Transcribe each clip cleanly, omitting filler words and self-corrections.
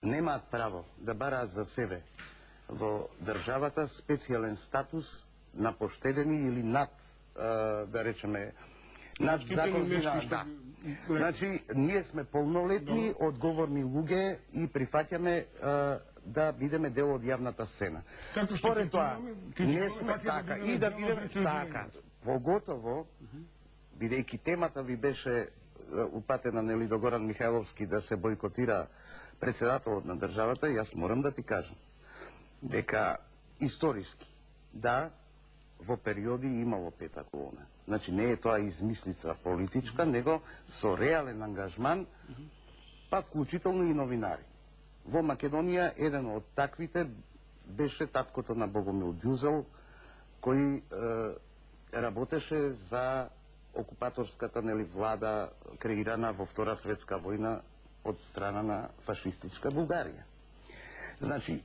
немаат право да бараат за себе во државата специјален статус на поштедени или над, да речеме, над законски, да. Значи, ние сме полнолетни, одговорни луѓе и прифаќаме да бидеме дел од јавната сцена. Според тоа, не сме така и да бидеме така. Поготово, бидејќи темата ви беше упатена, нели, до Горан Михајловски да се бойкотира председателот на државата, јас морам да ти кажам дека историски, да, во периоди имало пета колона. Значи не е тоа измислица политичка, него со реален ангажман, па вклучително и новинари. Во Македонија еден од таквите беше таткото на Богомил Дјузел, кој работеше за окупаторската, нели, влада креирана во Втора светска војна од страна на фашистичка Бугарија. Значи,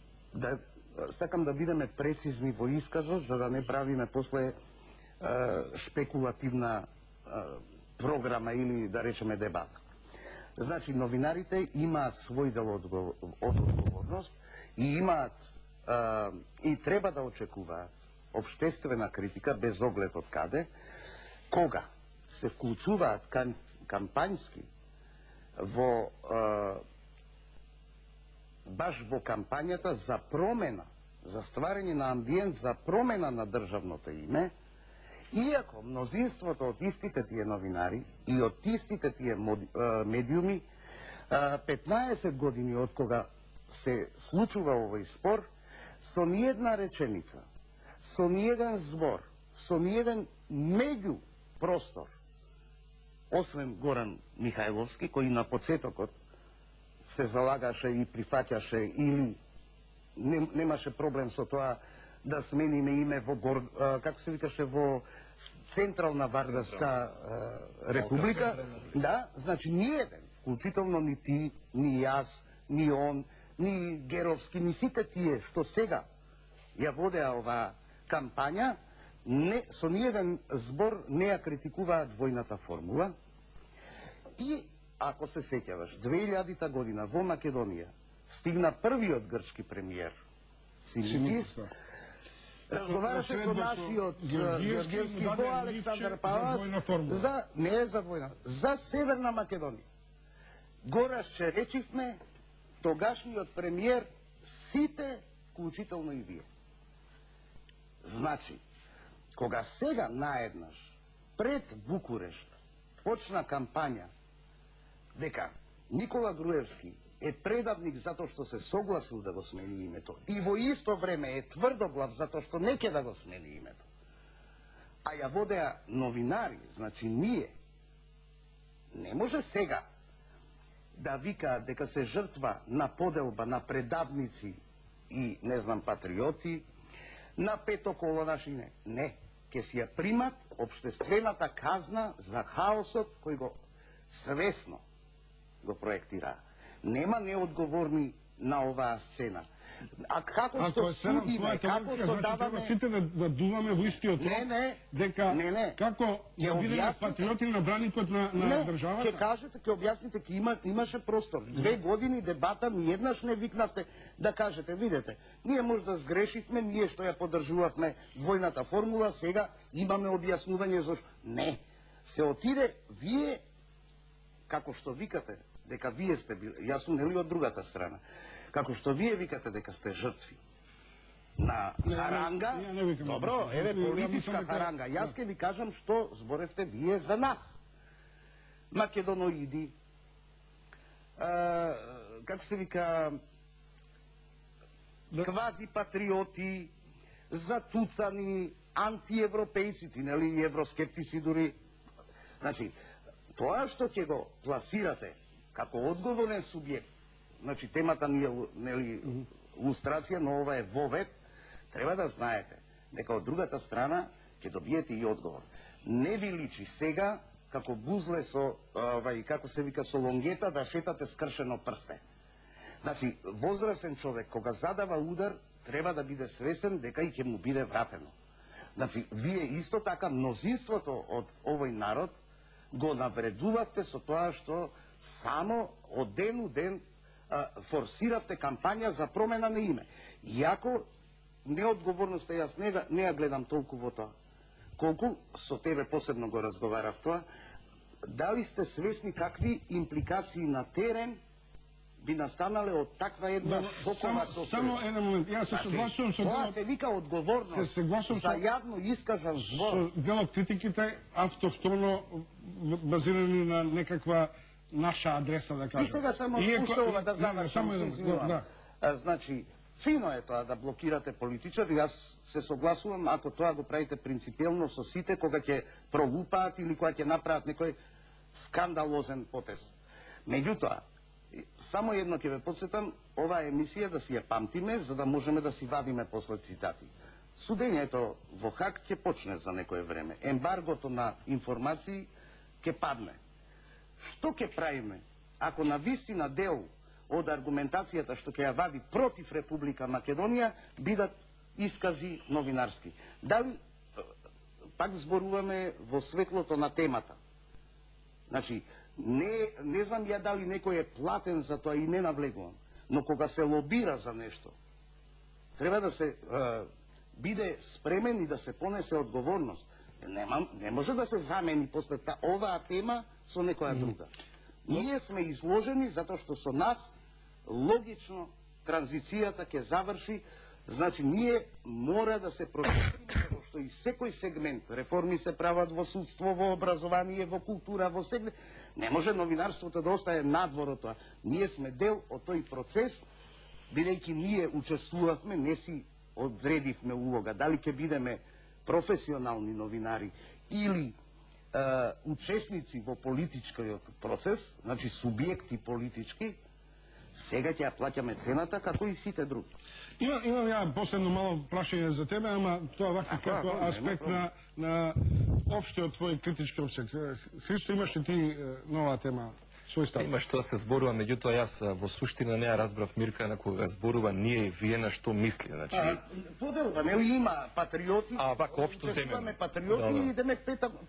сакам да бидеме прецизни во исказот, за да не правиме после шпекулативна програма или, да речеме, дебата. Значи, новинарите имаат свој дел од одговорност и имаат и треба да очекуваат општествена критика без оглед од каде, кога се вклучуваат кампањски во баш во кампањата за промена, за стварање на амбиент за промена на државното име, иако мнозинството од истите тие новинари и од истите тие медиуми 15 години од кога се случува овој спор, со ниедна реченица, со ниеден збор, со ниеден меѓу простор, освен Горан Михајловски, кој на почетокот се залагаше и прифаќаше или немаше проблем со тоа да смениме име во како се викаше, во Централна Вардарска република. Да, значи ниеден, вклучително ни ти, ни јас, ни он, ни Геровски, ни сите тие што сега ја водеа оваа кампања, со ниеден збор не ја критикуваат војната формула. И ако се сеќаваш, 2000-та година во Македонија стигна првиот грчки премиер Симитис, разговараше со нашиот Георгиевски во Александар Палас за не за војна, за Северна Македонија. Го расчеречивме тогашниот премиер, сите, вклучително и вие. Значи, кога сега наеднаш пред Букурешт почна кампања дека Никола Груевски е предавник затоа што се согласил да го смени името и во исто време е тврдоглав затоа што не ќе да го смени името, а ја водеа новинари, значи ние, не може сега да викаат дека се жртва на поделба на предавници и, не знам, патриоти, на петоколонаши, не. Ке си ја примат општествената казна за хаосот кој го свесно го проектираа. Нема неодговорни на оваа сцена. А како што судиме, како што даваме... Сите да дуваме во истиот рок, дека како да бидеме патриоти на браникот на државата? Не, ќе кажете, ќе објасните, имаше простор. 2 години дебата, ниеднаш не викнавте да кажете, видете, ние може да сгрешивме, ние што ја поддржувавме двојната формула, сега имаме објаснување зашто. Не, се отиде, вие, како што викате, дека вие сте били, јас сум нели од другата страна, како што вие викате дека сте жртви на харанга, добро, еве политичка харанга, јас ќе ви кажам што зборевте вие за нас. Македоноиди, како се вика, квази патриоти, затуцани, антиевропејци, нели, и евроскептици дури. Значи, тоа што ќе го пласирате како одговорен субјект, значи темата ни е, нели, илустрација, но ова е вовед, треба да знаете дека од другата страна ќе добиете и одговор. Не ви личи сега како бузле со, како се вика, со лонгета да шетате скршено прсте. Значи, возрасен човек кога задава удар, треба да биде свесен дека и ќе му биде вратено. Значи, вие исто така мнозинството од овој народ го навредувавте со тоа што само од ден у ден форсиравте кампања за промена на име. Иако неодговорноста јас не ја гледам толку во тоа. Колку со тебе посебно го разговарав тоа, дали сте свесни какви импликации на терен би настанале од таква една шокова состојба? Само еден момент, јас се согласувам со тоа се вика одговорност за јавно искажан збор. Со дел од критиките автохтоно базирани на некаква наша адреса, да кажем. И сега само пуштова да завршам, се извинувам. Значи, фино е тоа да блокирате политичари, јас се согласувам ако тоа го правите принципиелно со сите кога ќе пролупаат или кога ќе направат некој скандалозен потез. Меѓутоа, само едно ќе ве подсетам, оваа емисија да си ја памтиме, за да можеме да си вадиме после цитати. Судењето во Хаг ќе почне за некое време. Ембаргото на информации ќе падне. Што ќе правиме ако на вистина дел од аргументацијата што ќе ја вади против Република Македонија бидат искази новинарски? Дали пак зборуваме во светлото на темата? Значи, не знам ја дали некој е платен за тоа и не навлегувам, но кога се лобира за нешто, треба да се биде спремен и да се понесе одговорност. Не може да се замени после оваа тема со некоја друга. Ние сме изложени затоа што со нас логично транзицијата ќе заврши. Значи, ние мора да се процесиме, како што и секој сегмент, реформи се прават во судство, во образование, во култура, во сегмент. Не може новинарството да остане надвор од тоа. Ние сме дел од тој процес, бидејќи ние учествувавме, не си одредивме улога. Дали ќе бидеме професионални новинари или учесници во политичкиот процес, значи субјекти политички, сега ќе ја плаќаме цената како и сите други. Имам ја последно мало прашање за тебе, ама тоа вака како аспект на општиот твој критички обсек. Христо, имаш ли ти нова тема? Има што да се зборува, меѓутоа јас во суштина не ја разбрав Мирка на кога зборува ние и вие на што мисли. Значи поделба, нели има патриоти? Вака општо земеме патриоти и идеме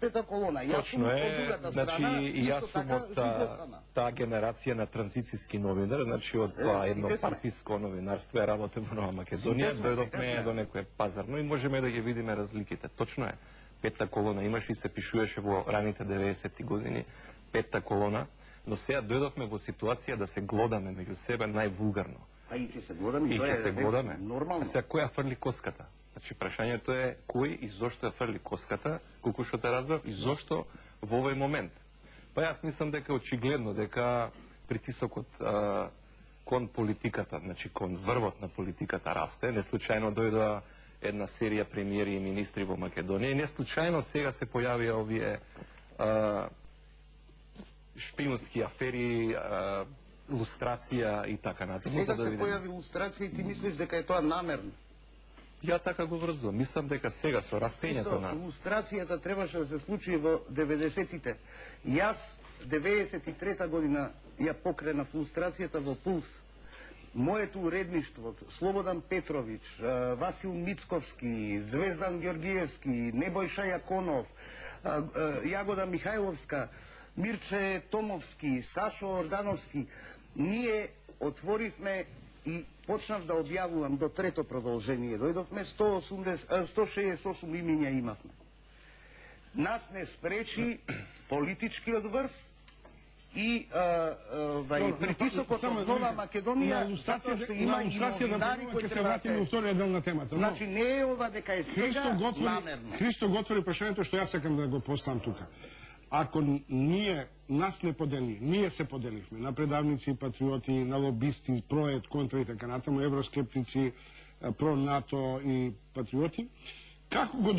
пета колона. Точно е, значи и јас сум од таа генерација на транзицијски новинар, значи од тоа едно партиско новинарство, ја работев во Нова Македонија, дојдовме до некое пазарно и можеме да ги видиме разликите. Точно е. Пета колона имаш и се пишуваше во раните 90-ти години, пета колона. Но сега дојдовме во ситуација да се глодаме меѓу себе највулгарно. И ќе се глодаме, и ќе се глодаме. Нормално. А сега кој ја фрли коската? Значи прашањето е кој и зошто ја фрли коската, колку што те разбрав, и зошто во овој момент. Па јас мислам дека очигледно дека притисокот кон политиката, значи кон врвот на политиката расте. Не случајно дојдоа една серија премиери и министри во Македонија и не случајно сега се појавија овие шпионски афери, лустрација и така натаму. Сега се појави лустрација и ти мислиш дека е тоа намерно? Ја така го врзувам. Мислам дека сега со растењето на лустрацијата требаше да се случи во 90-тите. Јас 93-та година ја покренав лустрацијата во Пулс. Моето уредништво, Слободан Петрович, Васил Мицковски, Звездан Георгиевски, Небојша Јаконов, Јагода Михајловска, Мирче Томовски, Сашо Ордановски, ние отворивме и почнав да објавувам до трето продолжение. Дојдовме 168 имиња имавме. Нас не спречи политичкиот врв и притисокот од Нова Македонија, затоа што има и новинари кои треба да се... Значи не е ова дека е сега намерно. Христо го отвори прашањето што јас сакам да го поставам тука. Ако нас не подели, ние се поделивме на предавници и патриоти, на лобисти, проект, контра и така натаму, евроскептици, про НАТО и патриоти, како го